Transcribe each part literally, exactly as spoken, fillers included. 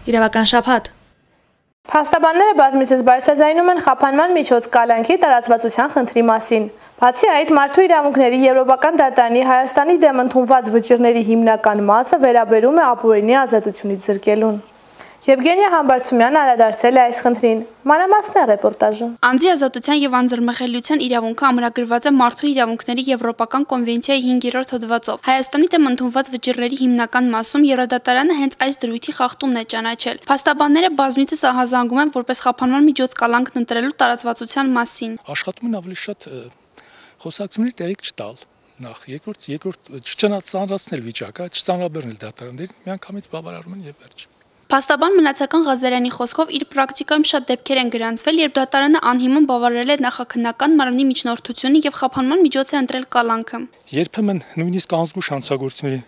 Իրավական շաբաթ։ Փաստաբանները բազմիցս բարձրաձայնում են խափանման միջոց կալանքի տարածվածության խնդրի մասին։ Բացի այդ, մարդու իրավունքների Եվրոպական դատարանի Հայաստանի դեմ ընդունված վճիռների հիմնական մասը վերաբերում է ապօրինի ազատությունից զրկելուն։ Եվգենիա Համբարձումյանն անդրադարձել է այս խնդրին։ Մանրամասն է ռեպորտաժը։ Անձի ազատության եւ անձեռնմխելիության իրավունքը ամրագրված է Մարդու իրավունքների Եվրոպական կոնվենցիայի հինգերորդ հոդվածով։ Հայաստանի դեմ ընդունված վճիռների հիմնական մասում Եվրոդատարանը հենց այս դրույթի խախտումն է ճանաչել։ Փաստաբանները բազմիցս ահազանգում են որպես խափանման միջոց կալանքն ընտրելու տարածվածության մասին։ Աշխատում են ավելի շատ խոսակցությունների տեղիք չտալ։ Նախ, երկրորդ, երկրորդ չծանրացնել վիճակը, չծանրաբեռնել դատարաններին, միանգամից բավարարում են եւ վերջ։ Փաստաբան Մնացական Ղազարյանի խոսքով իր պրակտիկայում շատ դեպքեր են գրանցվել, երբ դատարանը անհիմն բավարարել է նախաքննական մարմնի միջնորդությունը եւ խափանման միջոց է ընտրել կալանքը։ Երբեմն նույնիսկ անզգույշ հանցագործությունների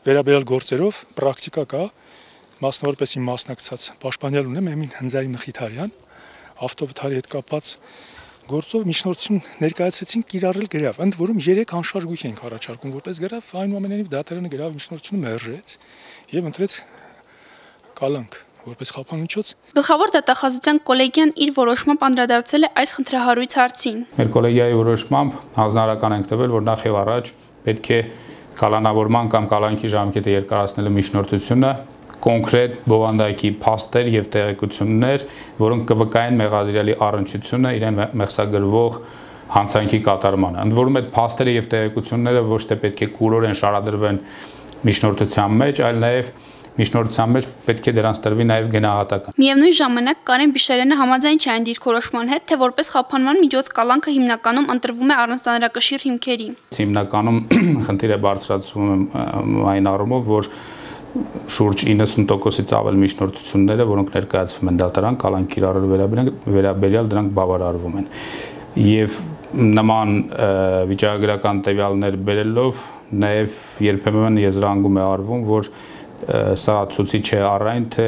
վերաբերյալ գործերով պրակտիկա կա, մասնավորապես իմ մասնակցած պաշտպանյալ ունեմ Էմին Հնձայի Մխիթարյան, ավտովթարի հետ կապված գործով միջնորդություն ներկայացրեցին կիրառել գրավ, ընդ որում երեք անշարժ գույք ենք առաջարկում որպես գրավ, այնուամենայնիվ դատարանը գրավ միջնորդությունը մերժեց եւ ընտրեց կալանք որպես խափան միջոց։ Գլխավոր դատախազության կոլեգիան իր որոշմամբ անդրադարձել է այս խնդրահարույց հարցին։ Մեր կոլեգիայի որոշմամբ հանձնարարական ենք տվել, որ նախ եւ առաջ պետք է կալանավորման կամ կալանքի ժամկետը երկարացնելու միջնորդությունը կոնկրետ բովանդակի փաստեր եւ տեղեկություններ, որոնք կվկայեն մեղադրյալի առնչությունը իրեն մեղսագրվող հանցանքի կատարմանը։ Ընդ որում այդ փաստերը եւ տեղեկությունները ոչ թե պետք է կուրորեն շարադրվեն միջնորդության մեջ, այլ նաեւ միջնորդության մեջ պետք է դրանց տրվի նաև գնահատական։ Միևնույն ժամանակ Կարեն Բիշերյանը համաձայն չէ այն դիրքորոշման հետ, թե որպես խափանման միջոց կալանքը հիմնականում ընտրվում է առանց ծանրակշիռ հիմքերի։ Հիմնականում խնդիրը բարձրացվում է այն առումով, որ շուրջ իննսուն տոկոսից ավել միջնորդությունները, որոնք ներկայացվում են դատարան կալանք կիրառելու վերաբերյալ դրանք բավարարվում են։ Եվ նման վիճակագրական տվյալներ բերելով նաև երբեմն եզրահանգում է արվում, որ սա ցույցի չէ առայն, թե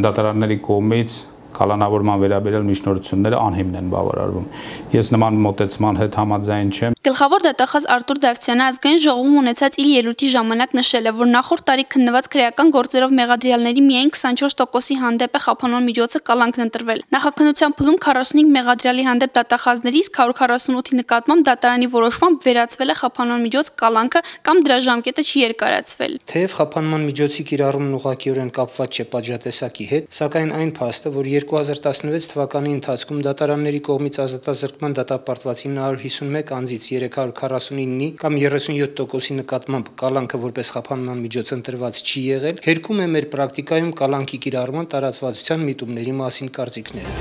դատարանների կողմից կալանավորման վերաբերյալ միջնորդությունները անհիմն են բավարարվում։ Ես նման մոտեցման հետ համաձայն չեմ։ Գլխավոր դատախազ Արտուր Դավթյանը ազգային ժողովում ունեցած իր ելույթի ժամանակ նշել է, որ նախորդ տարի քննված քրեական գործերով մեղադրյալների միայն քսանչորս տոկոսի հանդեպ է խափանման միջոցը կալանքն ընտրվել։ Նախաքննության փուլում քառասունհինգ մեղադրյալի հանդեպ դատախազներից քառ քառասունութի նկատմամբ դատարանի որոշմամբ վերացվել է խափանման միջոց կալանքը կամ դրա ժամկետը չի երկարացվել։ Թեև խափանման միջոցի կիրառումն ուղղակիորեն կապված չէ պատժատեսակի հետ, սակայն այն փաստը, որ երկու հազար տասնվեց թվականի ընթացքում դատարանների կողմից ազատազրկման դատապարտված ինը հարյուր հիսունմեկ անձից երեք հարյուր քառասունինի կամ երեսունյոթ տոկոսի նկատմամբ կալանքը որպես խափանման միջոց ընտրված չի եղել, հերքում է մեր պրակտիկայում կալանքի կիրառման տարածվածության միտումների մասին կարծիքները։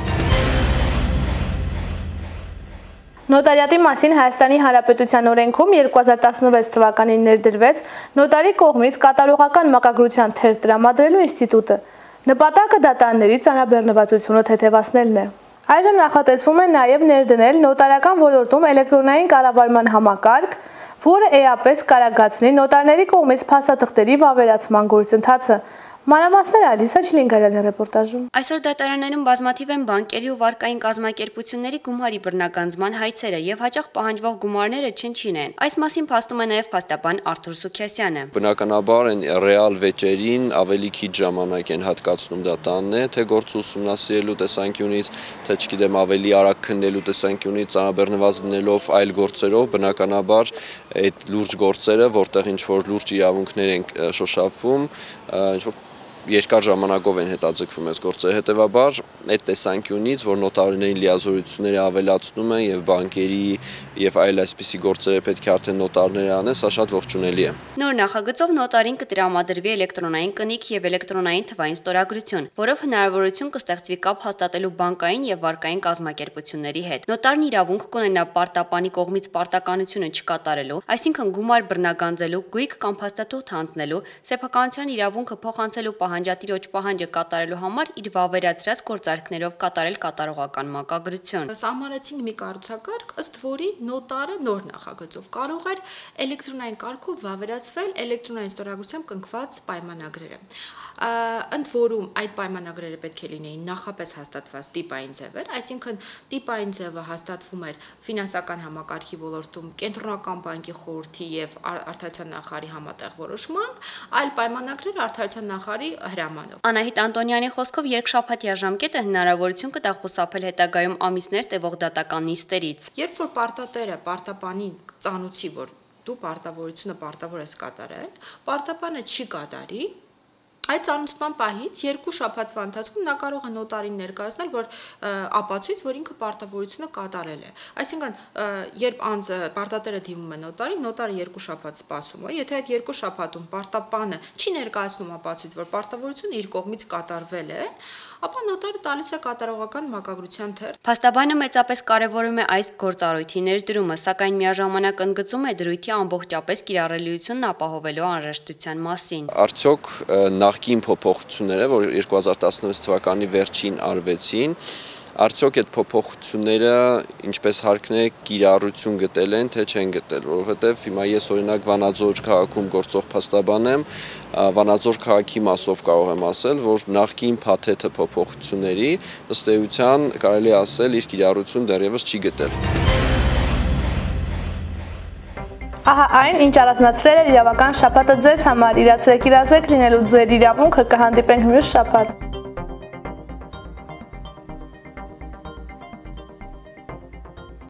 Նոտարիատի մասին Հայաստանի Հանրապետության օրենքում երկու հազար տասնվեց թվականին ներդրվեց նոտարի կողմից կատարողական մակագրության թերթ տրամադրելու ինստիտուտը։ Նպատակը դատարանների ծանրաբեռնվածությունը թեթևացնելն է։ Այժմ նախատեսվում է նաև ներդնել նոտարական ոլորտում էլեկտրոնային կառավարման համակարգ, որը էապես կարագացնի նոտարների կողմից փաստաթղթերի վավերացման գործընթացը։ Մանրամասները Ալիսա Չլինգարյանի ռեպորտաժում։ Այսօր դատարաններում բազմաթիվ են բանկերի ու վարկային կազմակերպությունների գումարի բռնագանձման հայցերը եւ հաճախ պահանջվող գումարները չնչին են։ Այս մասին փաստում է նաև փաստաբան Արթուր Սուքիասյանը։ Բնականաբար են ռեալ վեճերին ավելի քիչ ժամանակ են հատկացնում դատարանները, թե գործ ուսումնասիրելու տեսանկյունից, թե չգիտեմ ավելի արագ քննելու տեսանկյունից, ծանրաբեռնված դնելով այլ գործերով, բնականաբար այդ լուրջ գործերը, որտեղ ինչ որ լուրջ իրավունքներ են շոշափվում, ինչ որ երկար ժամանակով են հետաձգվում այս գործերը, հետևաբար այդ տեսանկյունից, որ նոտարների լիազորությունները ավելացնում են եւ բանկերի եւ այլ այսպիսի գործերը պետք է արդեն նոտարները անեն, սա շատ ողջունելի է։ Նոր նախագծով նոտարին կտրամադրվի էլեկտրոնային կնիկ եւ էլեկտրոնային թվային ստորագրություն, որով հնարավորություն կստեղծվի կապ հաստատելու բանկային եւ վարկային կազմակերպությունների հետ։ Նոտարն իրավունք կունենա պարտապանի կողմից պարտականությունը չկատարելու, այսինքն գումար բռնագանձելու, գույք կամ փաստաթուղթ հանձնելու, սեփականության իրավունքը փոխանցելու պահանջատիրոջ պահանջը կատարելու համար իր վավերացրած գործարքներով կատարել կատարողական մակագրություն։ Սահմանեցինք մի կառուցակարգ, ըստ որի նոտարը նոր նախագծով կարող էր էլեկտրոնային կարգով վավերացվել էլեկտրոնային ստորագրությամբ կնքված պայմանագրերը։ ընդ որում այդ պայմանագրերը պետք է լինեին նախապես հաստատված տիպային ձևեր, այսինքն տիպային ձևը հաստատվում էր ֆինանսական համակարգի ոլորտում Կենտրոնական բանկի խորհրդի եւ Արտադրության նախարարի համատեղ որոշմամբ, այլ պայմանագրերը Արտադրության նախարարի հրամանով։ Անահիտ Անտոնյանի խոսքով երկշաբաթյա ժամկետը հնարավորություն կտա խուսափել հետագայում ամիսներ տևող դատական նիստերից։ Երբ որ պարտատերը պարտապանին ծանուցի, որ դու պարտավորությունը պարտավոր ես կատարել, պարտապանը չի կատարի, այդ ծանուցման պահից երկու շաբաթվա ընթացքում նա կարող է նոտարին ներկայացնել, որ ապացույց, որ ինքը պարտավորությունը կատարել է։ Այսինքն, երբ անձը պարտատերը դիմում է նոտարին, նոտարը երկու շաբաթ սպասում է, եթե այդ երկու շաբաթում պարտապանը չի ներկայացնում ապացույց, որ պարտավորությունը իր կողմից կատարվել է, ապա նոտարը տալիս է կատարողական մակագրության թերթ։ Փաստաբանը մեծապես կարևորում է այս գործառույթի ներդրումը, սակայն միաժամանակ ընդգծում է դրույթի ամբողջապես կիրառելիությունն ապահովելու անհրաժեշտության մասին։ Արդյոք նախկին փոփոխությունները, որ երկու հազար տասնվեց թվականի վերջին արվեցին, արդյոք այդ փոփոխությունները ինչպես հարկն է կիրառություն գտել են, թե չեն գտել, որովհետև հիմա ես օրինակ Վանաձոր քաղաքում գործող փաստաբան եմ, Վանաձոր քաղաքի մասով կարող եմ ասել, որ նախկին փաթեթը փոփոխությունների ըստ էության կարելի ասել իր կիրառություն դեռևս չի գտել։ Ահա այն, ինչ առանձնացրել է իրավական շաբաթը ձեզ համար, իրացրեք իրազեկ լինելու ձեր իրավունքը, կհանդիպենք մյուս շաբաթ։